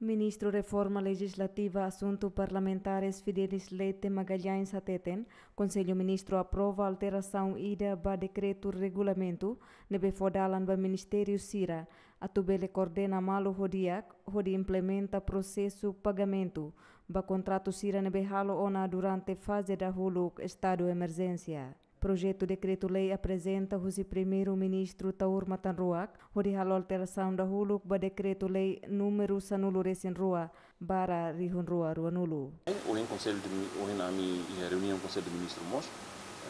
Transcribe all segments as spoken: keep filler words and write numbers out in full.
Ministru Reforma Lejislativa Asuntu Parlamentares Fidelis Leite Magalhães hateten, Konsellu Ministru aprova alterasaun ida ba dekretu regulamentu ne'ebé fó dalan ba ministériu sira atu bele koordena malu ho di'ak hodi implementa prosesu pagamentu ba kontratu sira ne'ebé halo ona durante faze dahuluk estadu emerjénsia. Projetu dekretu-lei aprezenta husi Primeiru-Ministru Taur Matan Ruak, hodi halo alterasaun dahuluk ba dekretu-lei númeru sanulu-resin-rua barra rihun rua ruanulu. Ohin Konsellu de Mi-, ohin ami iha reuniaun Konsellu de Ministru mós,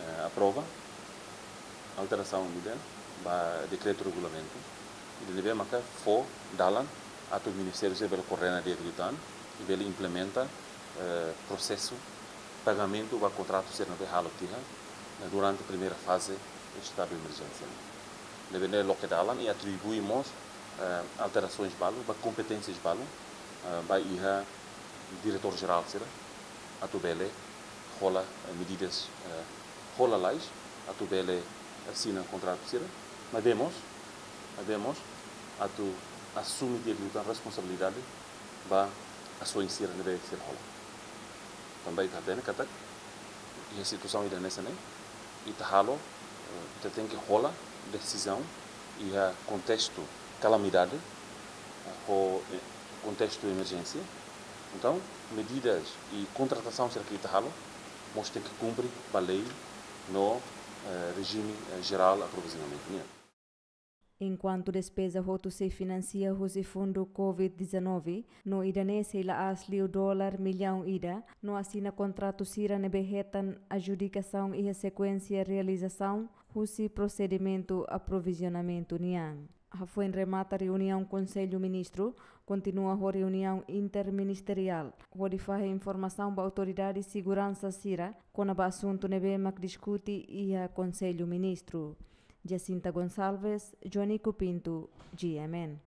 eh, aprova alterasaun ida ba dekretu regulamentu, ida ne'ebé maka fó dalan atu ministériu sira bele koordena di'ak liután, i bele implementa, eh, prosesu pagamentu ba kontratu sira ne'ebé halo tiha, eh, durante primeira faze estadu de emerjénsia. Ne'ebé ne'e loke dalan i atribui mós, eh, alterasaun balu ba kompeténsia balu, eh, ba iha diretór jerál sira atu bele hola, eh, medidas, eh, hola lalais atu bele asina kontratu sira. Maibé mós, maibé mós atu asume di'ak liután responsabilidade ba asaun sira ne'ebé sira hola. Tanba ita hatene katak iha situasaun ida hanesan ne'e, ita halo, eh, ita tenke hola desizaun iha kontestu kalamidade, eh, ho, eh, kontestu emerjénsia. Entaun, medidas i kontratasaun sira ke ita halo mós tenke kumpre ba lei no, eh, rejime, eh, jerál aprovizionamentu nian. Enkuantu despeza hotu sei finansia husi fundu covid dezanove, no ida-ne'e sei la'ós liu dolar millaun ida, no asina kontratu sira ne'ebé hetan adjudikasaun iha sekuénsia realizasaun husi prosedimentu aprovizionamentu nian. Hafoin remata reuniaun Konsellu Ministru, kontinua ho reuniaun interministeriál, hodi fahe informasaun ba autoridade seguransa sira kona-ba asuntu ne'ebé mak diskute iha Konsellu Ministru. Jacinta Gonçalves, Joanico Pinto, G M N.